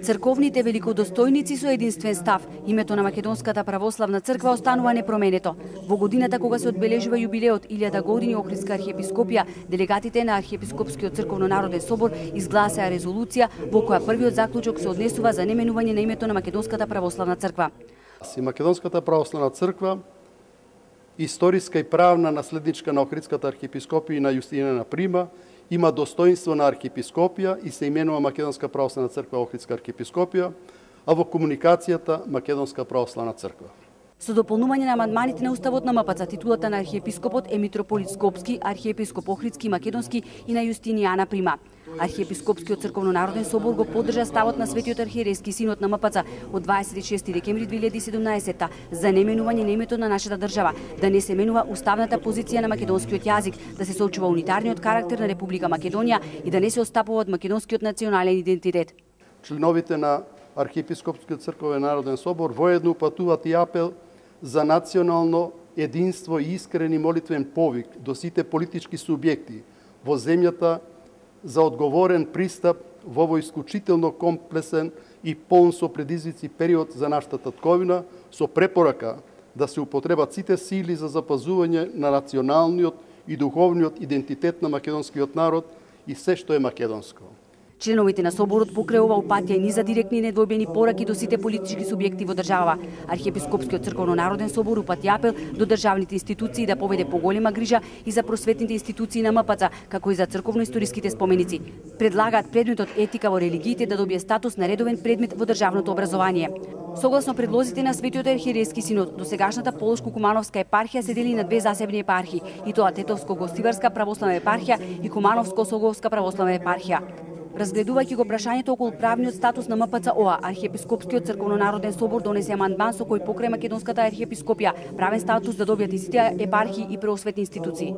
Црковните великодостојници со единствен став, името на Македонската православна црква останува непроменето. Во годината кога се одбележува јубилеот 1000 години Охридска архиепископија, делегатите на Архиепископскиот црковно-народен собор изгласаа резолуција во која првиот заклучок се однесува за неменување на името на Македонската православна црква. Македонската православна црква, историска и правна наследничка на Охридската архиепископија и на Јустинијана Прима, има достоинство на архиепископија и се именува Македонска православна црква Охридска архиепископија, а во комуникацијата Македонска православна црква. Со дополнување на амандманите на Уставот на МПЦ, титулата на архиепископот е митрополит Скопски, архиепископ Охридски, Македонски и на Јустинијана Прима. Архиепископскиот црковно-народен собор го поддржа ставот на Светиот архиерейски синод на МПЦ од 26 декември 2017 за неменување на името на нашата држава, да не се менува уставната позиција на македонскиот јазик, да се соочува унитарниот карактер на Република Македонија и да не се отстапува од македонскиот национален идентитет. Членовите на Архиепископскиот црковен народен собор воедно упатуваат и апел за национално единство и искрени молитвен повик до сите политички субјекти во земјата за одговорен пристап во овој исклучително комплексен и полн со предизвици период за нашата татковина, со препорака да се употребат сите сили за запазување на националниот и духовниот идентитет на македонскиот народ и се што е македонско. Членовите на соборот покрај ова упатија и низа директни и недвојбени пораки до сите политички субјекти во државава. Архиепископскиот црковно-народен собор упати апел до државните институции да поведе поголема грижа и за просветните институции на МПЦ, како и за црковно-историските споменици. Предлагаат предметот етика во религиите да добие статус на редовен предмет во државното образование. Согласно предлозите на Светиот архиерейски синод, досегашната Полошко-Кумановска епархија се дели на две засебни епархии, и тоа Тетовско-Гостиварска православна епархија и Кумановско-Соговска православна епархија. Разгледувајќи го прашањето околу правниот статус на МПЦ ОА, Архиепископскиот црковно-народен собор донесе амандман со кој покрај Македонската архиепископија правен статус да добијат и сите епархии и преосветни институции.